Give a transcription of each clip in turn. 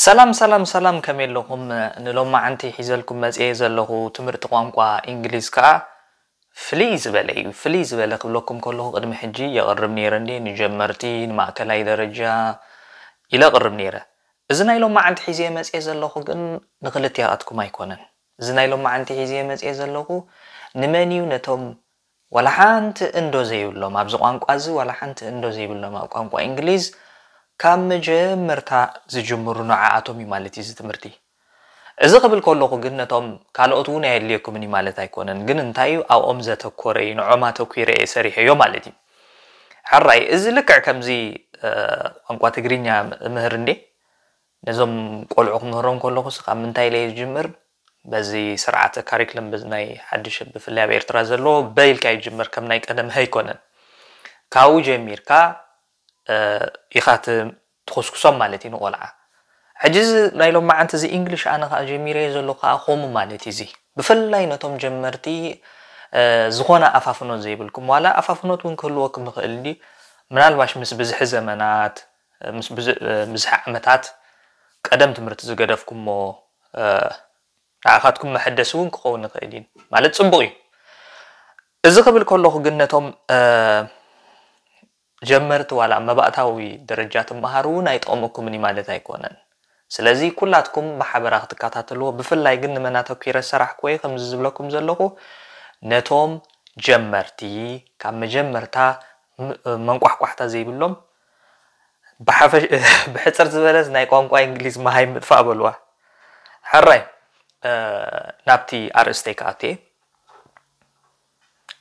ሰላም ሰላም ሰላም፣ ከመይ ኣለኹም? ንሎማዓንቲ ሒዘልኩም መጽየ ዘለኹ ትምህርቲ ቋንቋ እንግሊዝ ከኣ ፍልይ ዝበለ እዩ። ፍልይ ዝበለ ክብለኩም ከለኹ ቅድሚ ሕጂ የቕርብ ነይረ እንዴ፣ ንጀመርቲ፣ ንማእከላይ ደረጃ ኢለ እቕርብ ነይረ። እዚ ናይ ሎማዓንቲ ሒዘ መጽየ ዘለኹ ግን ንኽልቲኣትኩም ኣይኮነን። እዚ ናይ ሎማዓንቲ ሒዘ መጽየ ዘለኹ ንመን እዩ? ነቶም ዋላ ሓንቲ እንዶ ዘይብሎም፣ ኣብዚ ቋንቋ እዚ ዋላ ሓንቲ እንዶ ዘይብሎም፣ ኣብ ቋንቋ እንግሊዝ ካብ መጀመርታ ዝጅምሩ ንዓኣቶም እዩ ማለት እዩ እዚ ትምህርቲ። እዚ ክብል ከለኹ ግን ነቶም ካልኦት እውን ኣየድልየኩምን እዩ ማለት ኣይኮነን። ግን እንታይ እዩ ኣብኦም ዘተኮረ እዩ፣ ንዖም ኣተኲረ እየ ሰሪሐዮ ማለት እዩ። ሕራይ፣ እዚ ልክዕ ከምዚ እ፣ ቋንቋ ትግርኛ ምህር እንዴ ነዞም ቆልዑ ክምህሮም ከለኹስ ካብ ምንታይ ኢለ እየ ዝጅምር? በዚ ስርዓተ ካሪክለም በዚ ናይ ሓድሽ ብፍላይ ኣብ ኤርትራ ዘሎ በይ ኢልካ ይጅመር፣ ከም ናይ ቀደም ኣይኮነን። ካብኡ ጀሚርካ እ፣ ኢኻ ት- ትኹስኩሶም ማለት እዩ ንቆልዓ። ሕጂ እዚ ናይ ሎማዓንቲ እዚ እንግሊሽ ኣነ ከዓ ጀሚረዮ ዘለኹ ከዓ ከምኡ ማለት እዩ። እዚ ብፍላይ ነቶም ጀመርቲ እ፣ ዝኾነ ኣፋፍኖት ዘይብልኩም፣ ዋላ ኣፋፍኖት እውን ክህልወኩም ይኽእል ድዩ፣ ምናልባሽ ምስ ብዝሒ ዘመናት፣ ምስ ብዝ- ብዝሒ ዓመታት ቀደም ትምህርቲ ዝገደፍኩሞ እ፣ ንዓኻትኩም መሐደሲ እውን ክኸውን ይኽእል እዩ። ማለት ጽቡቕ እዩ። እዚ ክብል ከለኹ ግን ነቶም እ፣ ጀመርቲ ዋላ መባእታዊ ደረጃ ትመሃሩ እውን ኣይጠቕመኩምን እዩ ማለት ኣይኮነን። ስለዚ ኩላትኩም ብሓበራ ክትከታተልዎ፣ ብፍላይ ግን ንመን ኣተኲረ ሰራሕ ኮየ ከምዚ ዝብለኩም ዘለኹ ነቶም ጀመርቲ ካብ መጀመርታ ም- መንቋሕቋሕታ ዘይብሎም ብሓፈሽ- ብሕፅር ዝበለስ ናይ ቋንቋ እንግሊዝ መሃይ ምጥፋእ በልዋ። ሕራይ እ፣ ናብቲ ኣርእስተይ ክኣቱ እየ።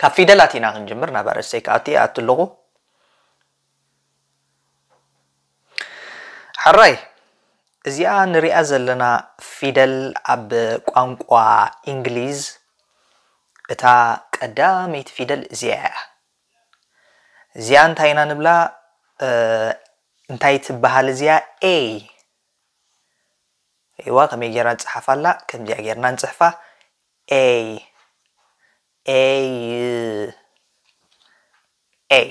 ካብ ፊደላት ኢና ክንጅምር። ናብ ኣርእስተይ ክኣቱ እየ። ኣቱ ኣለኹ። ሕራይ እዚኣ ንሪኣ ዘለና ፊደል ኣብ ቋንቋ እንግሊዝ እታ ቀዳመይቲ ፊደል እዚኣ እያ። እዚኣ እንታይ ኢና ንብላ? እ፣ እንታይ ትበሃል እዚኣ? ኤ። እዋ፣ ከመይ ጌርና ንጽሓፍ ኣላ? ከምዚኣ ጌርና ንጽሕፋ። ኤ፣ ኤ፣ ኤ።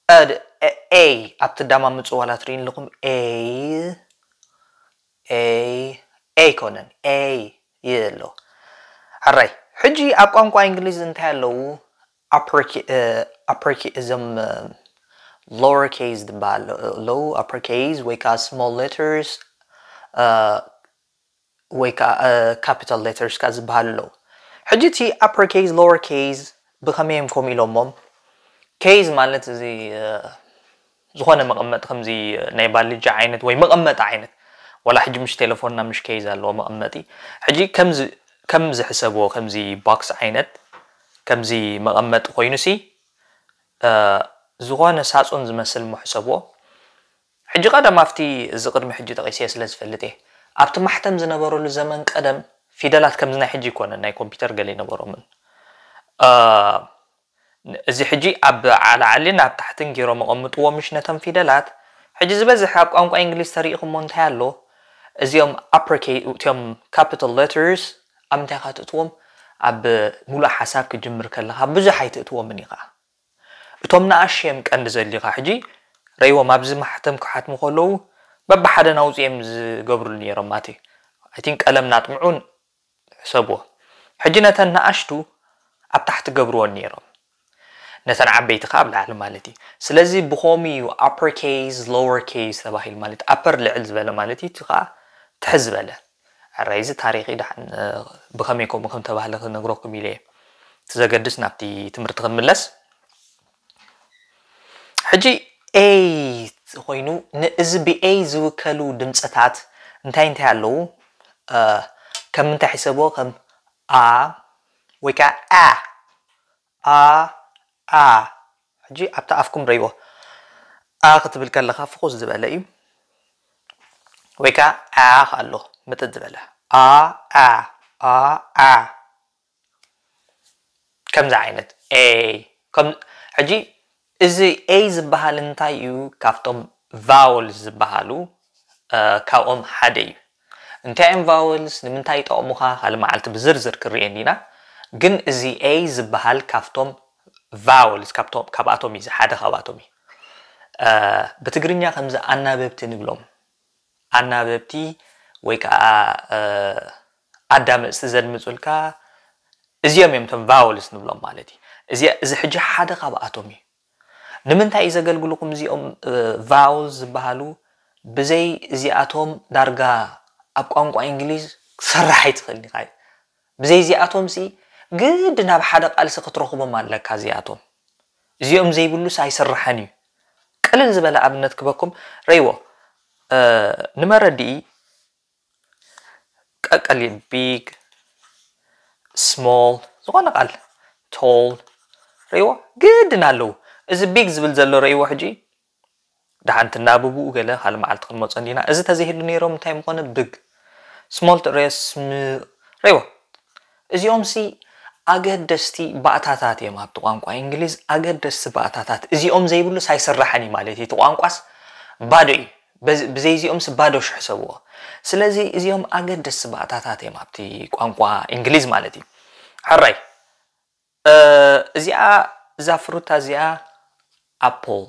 እ፣ ድ- ኤ፣ ኤ፣ ኣብቲ ዳማ ምጽዋላ ትርእዩ ኣለኹም። ኤ፣ ኤ፣ ኤ ኣይኮነን። ኤ፣ ይ ኣሎ። ሕራይ፣ ሕጂ ኣብ ቋንቋ እንግሊዝ እንታይ ኣለዉ? ኣፕሪኪ- እ፣ ኣፕሪኪ- እዞም ሎወር ኬዝ ዝበሃል ኣለዉ። ኣፕር ኬዝ ወይ ከዓ ስሞል ሌተርስ ወይ ከዓ ካፒታል ሌተርስ ከዓ ዝበሃሉ ኣለዉ። ሕጂ እቲ ኣፕር ኬዝ ሎወር ኬዝ ብኸመይ እዮም ከምኡ ኢሎሞም? ኬዝ ማለት እዚ እ፣ ዝኾነ መቐመጢ ከምዚ ናይ ባልጃ ዓይነት ወይ መቐመጢ ዓይነት፣ ዋላ ሕጂ ምሽ ቴሌፎንና ምሽ ኬዝ ኣለዎ መቐመጢ። ሕጂ ከምዚ ከምዚ ሕሰብዎ፣ ከምዚ ቦክስ ዓይነት፣ ከምዚ መቐመጢ ኮይኑሲ እ፣ ዝኾነ ሳጹን ዝመስል እሞ ሕሰብዎ። ሕጂ ቀደም ኣብቲ እዚ ቅድሚ ሕጂ ጠቒሰዮ ስለ ዝፈልጥ እየ። ኣብቲ ማሕተም ዝነበረሉ ዘመን ቀደም ፊደላት ከምዚ ናይ ሕጂ ኣይኮነን፣ ናይ ኮምፒውተር ገለ ኣይነበሮምን። እ፣ እዚ ሕጂ ኣብ ዓላዓሊ ናብ ታሕትን ገይሮም ኣቐምጥዎ ምሽ ነተን ፊደላት። ሕጂ ዝበዝሕ ኣብ ቋንቋ እንግሊዝ ተሪኢኹሞ እንታይ ኣሎ? እዚኦም ኣፕር ኬ- እቲኦም ካፒታል ሌተርስ ኣብ ምንታይ ኢኻ ትእትዎም? ኣብ ሙሉእ ሓሳብ ክትጅምር ከለኻ ብዙሕ ኣይትእትዎምን ኢኻ። እቶም ንኣሽዮም ቀንዲ ዘድልዩኻ። ሕጂ ረይዎም ኣብዚ ማሕተም ክሓትሙ ከለዉ በብሓደ ናውፅኦም ዝገብሩሉ ነይሮም። ማቲ ኣይ ቲንክ ቀለም ናጥምዑን ሕሰብዎ። ሕጂ ነተን ንኣሽቱ ኣብ ታሕቲ ገብርዎን ነይሮም፣ ነተን ዓበይቲ ከዓ ኣብ ላዕሊ ማለት እዩ። ስለዚ ብኸምኡ እዩ ኣፐር ኬዝ ሎወር ኬዝ ተባሂሉ፣ ማለት ኣፐር ልዕል ዝበለ ማለት እዩ፣ እቲ ከዓ ትሕት ዝበለ። ሕራይ እዚ ታሪኽ እዩ፣ ደሓን እ፣ ብኸመይ ከምኡ ከም ተባህለ ክነግረኩም ኢለ እየ። እቲ ዘገድስ ናብቲ ትምህርቲ ክንምለስ። ሕጂ ኤ ኮይኑ ንእዚ ብኤ ዝውከሉ ድምፅታት እንታይ እንታይ ኣለዉ? እ፣ ከም ምንታይ ሕሰብዎ? ከም ኣ ወይ ከዓ ኣ ኣ ኣ። ሕጂ ኣብቲ ኣፍኩም ረይዎ። ኣ ክትብል ከለኻ ፍኹስ ዝበለ እዩ። ወይ ከዓ ኣ ኣሎ ምጥጥ ዝበለ። ኣ ኣ ኣ ኣ። ከምዚ ዓይነት ኤ። ከም ሕጂ እዚ ኤ ዝበሃል እንታይ እዩ? ካብቶም ቫወልስ ዝበሃሉ እ፣ ካብኦም ሓደ እዩ። እንታይ እዮም ቫወልስ? ንምንታይ ይጠቕሙኻ? ካልእ መዓልቲ ብዝርዝር ክርኤን ኢና። ግን እዚ ኤ ዝበሃል ካብቶም ቫወልስ ካብቶም ካብኣቶም እዩ፣ ሓደ ካብኣቶም እዩ። እ፣ ብትግርኛ ከምዚ ኣናበብቲ ንብሎም። ኣናበብቲ ወይ ከዓ ኣዳመፅቲ ዘድምፁልካ እዚኦም እዮም እቶም vowels ንብሎም ማለት እዩ። እዚ ሕጂ ሓደ ካብኣቶም እዩ። ንምንታይ እዩ ዘገልግልኩም እዚኦም vowels ዝበሃሉ? ብዘይ እዚኣቶም ዳርጋ ኣብ ቋንቋ እንግሊዝ ክሰርሕ ኣይትኽእልን ኢኻ። ብዘይ እዚኣቶም ሲ ግድ ናብ ሓደ ቃልሲ ክትረኽቦም ኣለካ። እዚኣቶም እዚኦም ዘይብሉስ ኣይስርሕን እዩ። ቅልል ዝበለ ኣብነት ክበኩም ረይዎ ንመረድኢ ቀቀሊ big small ዝኾነ ቃል tall ረይዎ ግድን ኣለዉ። እዚ big ዝብል ዘሎ ረይዎ ሕጂ ደሓንቲ እናብብኡ ገለ ካልእ መዓልቲ ክንመፆ እንዲና። እዚ ተዘይህሉ ነይሮም እንታይ ምኾነ big small ትረዮ ስም ረይዎ እዚኦም ሲ ኣገደስቲ ባእታታት እዮም ኣብቲ ቋንቋ እንግሊዝ ኣገደስቲ ባእታታት እዚኦም ዘይብሉ ሳይስራሕን እዩ ማለት እዩ። እቲ ቋንቋስ ባዶ እዩ። ብዘይዚኦም ሲ ባዶ ሽሕ ሰብዎ። ስለዚ እዚኦም ኣገደስቲ ባእታታት እዮም ኣብቲ ቋንቋ እንግሊዝ ማለት እዩ። ሕራይ እዚኣ እዛ ፍሩታ እዚኣ ኣፕል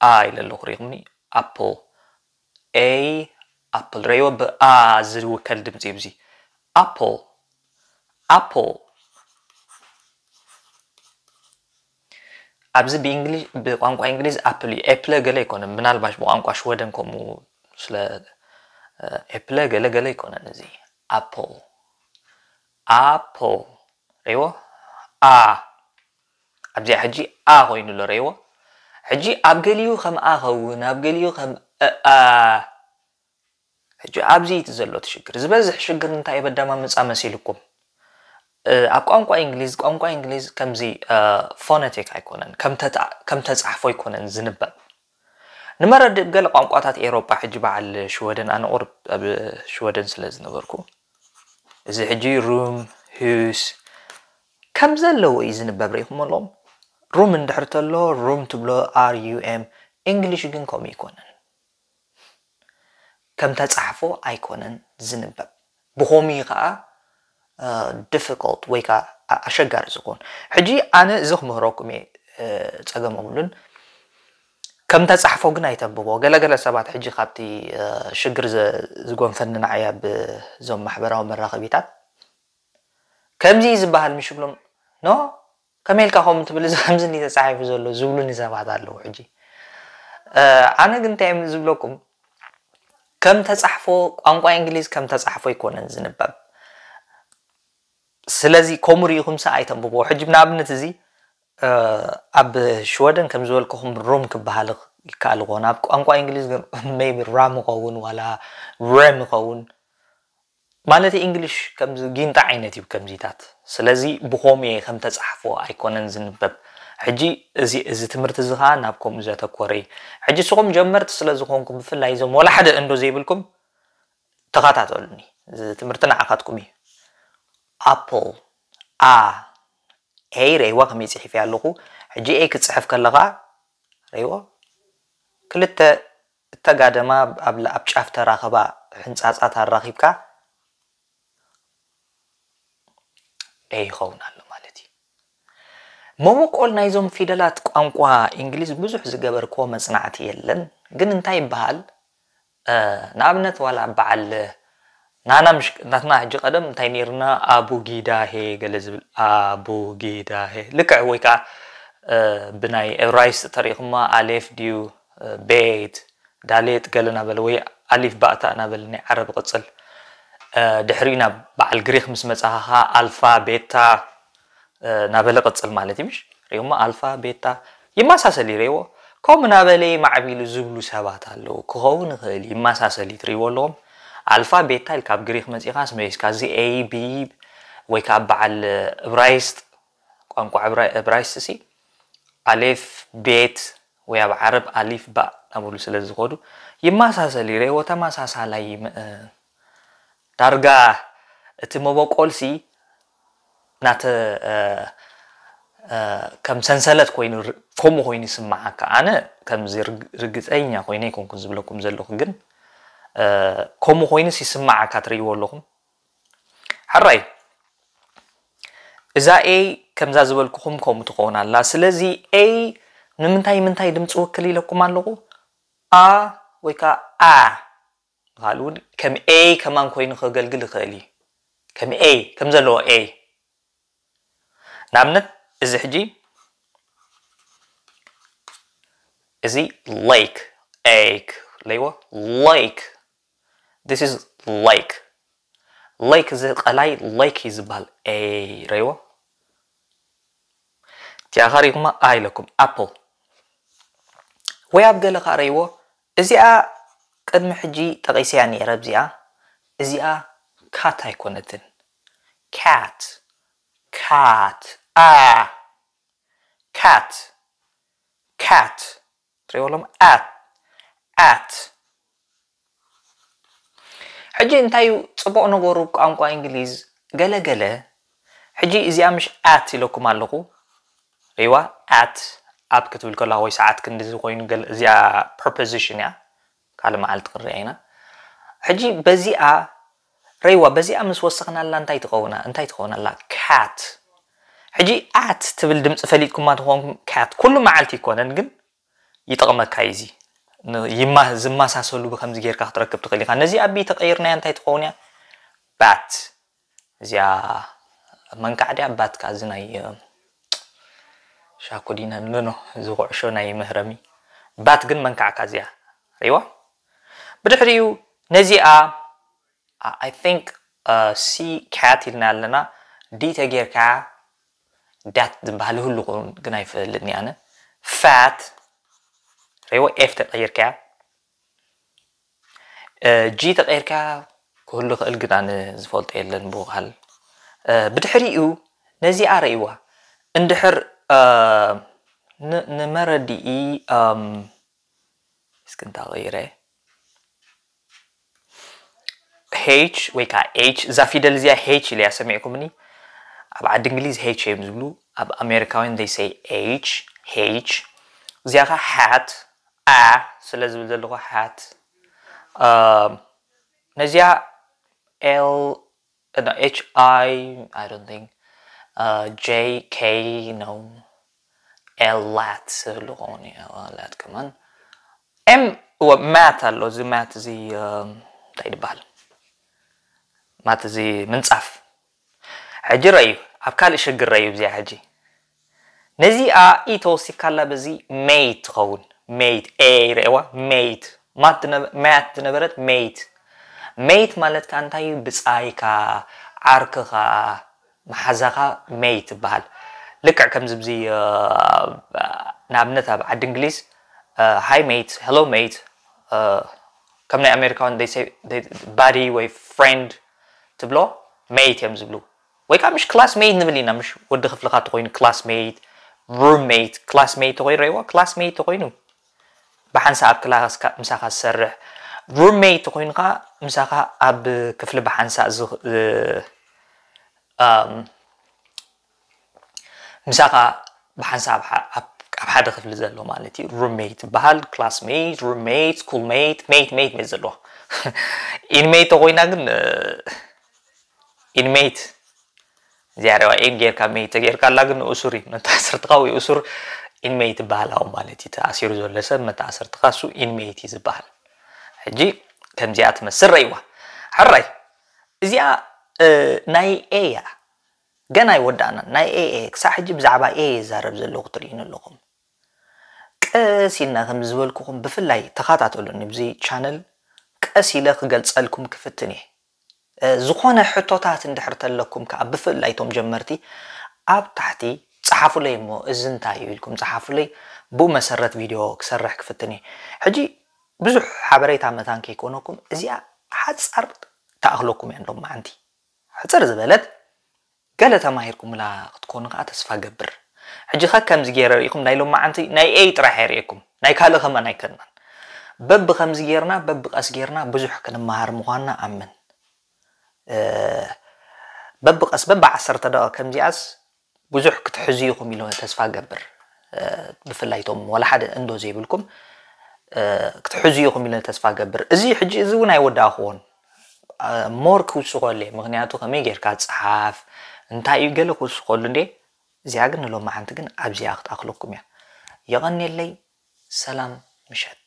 ኣ ኢለ ኣለኹ ሪኹምኒ ኣፕል a apple ረይዎ ብኣ ዝውከል ድምፂ እዩ። እዚ ኣፕል ኣፕል ኣብዚ ብእንግሊዝ ብቋንቋ እንግሊዝ ኣፕል እዩ። ኤፕለ ገለ ኣይኮነን። ምናልባሽ ብቋንቋ ሽወደን ከምኡ ስለ ኤፕለ ገለ ገለ ኣይኮነን። እዚ ኣፕል ኣፕል ረይዎ ኣ ኣብዚኣ ሕጂ ኣ ኮይኑ ኣሎ ረይዎ። ሕጂ ኣብ ገሊኡ ከም ኣ ኸውን ኣብ ገሊኡ ከም ኣ ሕጂ ኣብዚ እቲ ዘሎ እቲ ሽግር ዝበዝሕ ሽግር እንታይ በዳማ ምፃ መሲልኩም ኣብ ቋንቋ እንግሊዝ ቋንቋ እንግሊዝ ከምዚ ፎነቲክ ኣይኮነን ከም ተፃሕፎ ኣይኮነን ዝንበብ። ንመረድእ ገለ ቋንቋታት ኤሮጳ ሕጂ በዓል ሽወደን ኣነ ቁርብ ኣብ ሽወደን ስለ ዝነበርኩ እዚ ሕጂ ሩም ሁስ ከም ዘለዎ እዩ ዝንበብ ርኢኹም ኣለኹም። ሩም እንድሕር ተሎ ሩም ትብሎ ር ዩ ኤም። እንግሊሽ ግን ከምኡ ኣይኮነን። ከም ተጻሕፎ ኣይኮነን ዝንበብ። ብኸምኡ እዩ ኸዓ ዲፊኮልት ወይ ከዓ ኣሸጋሪ ዝኾን። ሕጂ ኣነ እዚ ክምህረኩም እየ፣ ጸገም የብሉን። ከም ተጻሕፎ ግን ኣይተንብቦ። ገለገለ ሰባት ሕጂ ካብቲ ሽግር ዝጎንፈኒ ንዓይ ኣብ እዞም ማሕበራዊ መራኸቢታት ከምዚ እዩ ዝበሃል ምሽ ብሎም ኖ ከመይ ኢልካ ከምኡ ትብል እዚ ከምዚ እንዲ ተጻሒፉ ዘሎ ዝብሉኒ ሰባት ኣለዉ። ሕጂ ኣነ ግን እንታይ እዮም ዝብለኩም ከም ተጻሕፎ ቋንቋ እንግሊዝ ከም ተጻሕፎ ኣይኮነን ዝንበብ። ስለዚ ከምኡ ርኢኹም ሰ ኣይተንብቦ። ሕጂ ንኣብነት እዚ ኣብ ሽወደን ከም ዝበልኩኹም ሩም ክበሃል ይከኣል ይኾን ኣብ ቋንቋ እንግሊዝ ግን ሜቢ ራም ይኸውን ዋላ ረም ይኸውን። ማለት እንግሊሽ ከምዚ ጊንጣ ዓይነት እዩ ከምዚታት። ስለዚ ብኸምኡ እየ ከም ተጻሕፎ ኣይኮነን ዝንበብ። ሕጂ እዚ እዚ ትምህርቲ እዚ ኸኣ ናብ ከምኡ ዘተኮረ እዩ። ሕጂ ንስኹም ጀመርቲ ስለ ዝኾንኩም ብፍላይ እዞም ወላ ሓደ እንዶ ዘይብልኩም ተኸታተሉኒ። እዚ ትምህርቲ ንዓኻትኩም እዩ። ኣፕል፣ ኣ፣ ኤይ ርኢዋ ከመይ ጽሒፈያ ኣለኹ። ሕጂ ኤይ ክትጽሕፍ ከለኻ ርኢዎ ክልተ እተጋደማ ኣብ ጫፍ ተራኸባ ሕንጻጻት ኣራኺብካ ኤ ይኸውን ኣሎ ማለት እዩ። መበቆል ናይዞም ፊደላት ቋንቋ እንግሊዝ ብዙሕ ዝገበርክዎ መጽናዕቲ የለን። ግን እንታይ ይበሃል ንኣብነት ዋላ በዓል ናና ምሽ ናትና ሕጂ ቀደም እንታይ ነይርና ኣቡጊዳሄ ገለ ዝብል ኣቡጊዳሄ ልክዕ ወይ ከዓ ብናይ ኤብራይስጥ ተሪእኹማ ኣሌፍ ድዩ ቤት ዳሌጥ ገለ ናበለ ወይ ኣሊፍ ባእታ ናበለ ናይ ዓረብ ቅፅል ድሕሪኡ ናብ በዓል ግሪክ ምስ መፃኻ ከዓ ኣልፋ ቤታ ናበለ ቅፅል ማለት እዩ ምሽ ሪኦሞ ኣልፋ ቤታ ይመሳሰል ይረይዎ ከምኡ ናበለ ማዕቢሉ ዝብሉ ሰባት ኣለዉ ክኸውን ይኽእል ይመሳሰል ትሪእዎ ኣለዎም ኣልፋ ቤታ ኢልካ ኣብ ግሪክ መፂኻስ መሊስካ እዚ ኤ ቢ ወይ ከዓ በዓል እብራይስጥ ቋንቋ እብራይስጥ ሲ ኣሌፍ ቤት ወይ ኣብ ዓረብ ኣሊፍ ባእ ናብሉ ስለ ዝኸዱ ይመሳሰል ይረይዎ ተመሳሳላይ ዳርጋ እቲ መበቆልሲ ናተ ከም ሰንሰለት ኮይኑ ከምኡ ኮይኑ ይስምዓካ ኣነ ከምዚ ርግፀኛ ኮይነ ይኮንኩ ዝብለኩም ዘለኹ ግን ከምኡ ኮይኑስ ይስምዓካ ትርእይዎ ኣለኹም ሕራይ እዛ ኤይ ከምዛ ዝበልኩኹም ከምኡ ትኸውን ኣላ ስለዚ ኤይ ንምንታይ ምንታይ ድምፂ ውክል ኢለኩም ኣለኹ ኣ ወይ ከዓ ኣ በሃል እውን ከም A ከማን ኮይኑ ከገልግል ይኽእል እዩ። ከም A ከም ዘለዎ A ንኣብነት እዚ ሕጂ እዚ lake lake ለይዎ lake this is lake lake እዚ ቀላይ lake እዩ ዝበሃል A ረይዎ እቲኣ ሪኹማ A ኢለኩም apple ወይ ኣብ ገለ ከዓ ረይዎ እዚኣ ቅድሚ ሕጂ ጠቒሰያ ነይረ እዚኣ እዚኣ cat ኣይኮነትን cat cat a cat cat ትሪእዎ ኣለኹም at at ሕጂ እንታይ እዩ ፅቡቕ ነገሩ ቋንቋ እንግሊዝ ገለ ገለ ሕጂ እዚኣ ምሽ at ኢለኩም ኣለኹ ሪዋ at ኣብ ክትብል ከላ ወይ ሰዓት ክንድዚ ኮይኑ እዚኣ preposition እያ ካልእ መዓልቲ ክንሪኣ ኢና ሕጂ በዚኣ ረይዋ በዚኣ ምስ ወሰኽናላ እንታይ ትኸውን እንታይ ትኸውን ኣላ cat ሕጂ at ትብል ድምፂ ፈሊጥኩማ ትኾንኩም cat ኩሉ መዓልቲ ይኮነን ግን ይጠቕመካ እዩ እዚ ዝመሳሰሉ ብከምዚ ጌርካ ክትረክብ ትኽእል ኢኻ ነዚ ኣቢ ተቐይርናያ እንታይ ትኸውን እያ bat እዚኣ መንካዕ ድያ bat ከ እዚ ናይ ሻኮዲና ንኖ እዚ ኩዕሾ ናይ መህረሚ bat ግን መንካዕካ እዚኣ ሪዋ ብድሕሪኡ ነዚኣ I think C cat ኢልና ኣለና D ተጌርካ dat ዝበሃል ይህሉ ግን ኣይፈልጥን ኣነ fat ሪዎ F ተቀይርካ G ተቀይርካ ክህሉ ክእል ግን ኣነ ዝፈልጦ የለን ብውሃል ብድሕሪኡ ነዚኣ ረእይዋ እንድሕር ንመረድኢ እስኪ እንታ ቀይረ H ወይ ከዓ H እዛ ፊደል እዚኣ H ኢለያ ሰሚዕኩምኒ ኣብ ዓዲ እንግሊዝ H እዮም ዝብሉ ኣብ ኣሜሪካውያን they say H H እዚኣ ከዓ hat a ስለ ዝብል ዘለኹ hat ነዚኣ L H I I don't think J K no L lat ዝብሉ ከውን እዩ lat ከማን M mat ኣሎ እዚ mat እዚ እንታይ ይበሃል mat እዚ ምንፃፍ ሕጂ ረዩ ኣብ ካልእ ሽግር ረዩ እዚኣ ሕጂ ነዚኣ ኢ ተወሲካላ በዚ mate ትኸውን mate A ረእዋ mate mat ዝነበረት mate mate ማለት ከዓ እንታይ እዩ ብፃይካ ዓርክኻ መሓዛኻ mate ይበሃል ልክዕ ከምዚ ብዚ ንኣብነት ኣብ ዓዲ እንግሊዝ hi mate hello mate ከም ናይ ኣሜሪካውን buddy ወይ friend ትብሎ mate እዮም ዝብሉ ወይ ከዓ ምሽ classmate ንብል ኢና ምሽ ወዲ ክፍልኻ ተኮይኑ classmate roommate classmate ተኮይኑ ረይዎ classmate ተኮይኑ ብሓንሳእ ኣብ ክላስ ምሳኻ ዝሰርሕ roommate ተኮይኑ ከዓ ምሳኻ ኣብ ክፍሊ ብሓንሳእ ምሳኻ ብሓንሳብ ኣብ ሓደ ክፍሊ ዘሎ ማለት እዩ roommate ይበሃል classmate roommate schoolmate mate mate mate ዘለዎ inmate ተኮይና ግን inmate እዚኣ ሬዋ in ጌርካ mate ተጌርካ ኣላ ግን እሱር እዩ መተኣስርትኻ ወይ እሱር inmate ይበሃል ኣብ ማለት እዩ ተኣሲሩ ዘሎ ሰብ መተኣስርትኻ እሱ inmate እዩ ዝበሃል ሕጂ ከምዚኣ ትመስል ረይዋ ሕራይ እዚኣ ናይ A እያ ገና ኣይወዳእናን ናይ A A ክሳዕ ሕጂ ብዛዕባ A ይዛረብ ዘለኹ ትርእዩኒ ኣለኹም ቀስ ኢልና ከም ዝበልኩኹም ብፍላይ ተኸታተሉኒ ብዚ channel ቀስ ኢለ ክገልፀልኩም ክፍትን እየ ዝኾነ ሕቶታት እንድሕር ተለኩም ከዓ ብፍላይ ቶም ጀመርቲ ኣብ ታሕቲ ፀሓፉለይ እሞ እዚ እንታይ እዩ ኢልኩም ፀሓፉለይ ብኡ መሰረት ቪድዮ ክሰርሕ ክፍትን እየ ሕጂ ብዙሕ ሓበሬታ መታን ከይኮነኩም እዚኣ ሓፃር ተኣኽለኩም እያ ሎም መዓንቲ ሕፅር ዝበለት ገለ ተማሂርኩምላ ክትኮኑ ከዓ ተስፋ ገብር ሕጂ ከ ከምዚ ገይረ ርኢኹም ናይ ሎማዓንቲ ናይ ኤይ ጥራሕ የርእየኩም ናይ ካልእ ከማን ኣይከድናን በቢ ከምዚ ገይርና በቢ ቀስ ገይርና ብዙሕ ክንመሃር ምዃንና ኣምን በቢ ቀስ በቢ ዓሰርተ ደቂቕ ከምዚኣስ ብዙሕ ክትሕዙ ኢኹም ኢለ ተስፋ ገብር ብፍላይ ቶም ዋላ ሓደ እንዶ ዘይብልኩም ክትሕዙ ኢኹም ኢለ ተስፋ ገብር እዚ ሕጂ እዚ እውን ኣይወዳእኽዎን more ክውስኸሉ እየ ምክንያቱ ከመይ ጌርካ ፀሓፍ እንታይ እዩ ገለ ክውስኸሉ እንዴ እዚኣ ግን ንሎማዓንቲ ግን ኣብዚኣ ክትኣኽለኩም እያ የቐንየለይ ሰላም ምሸት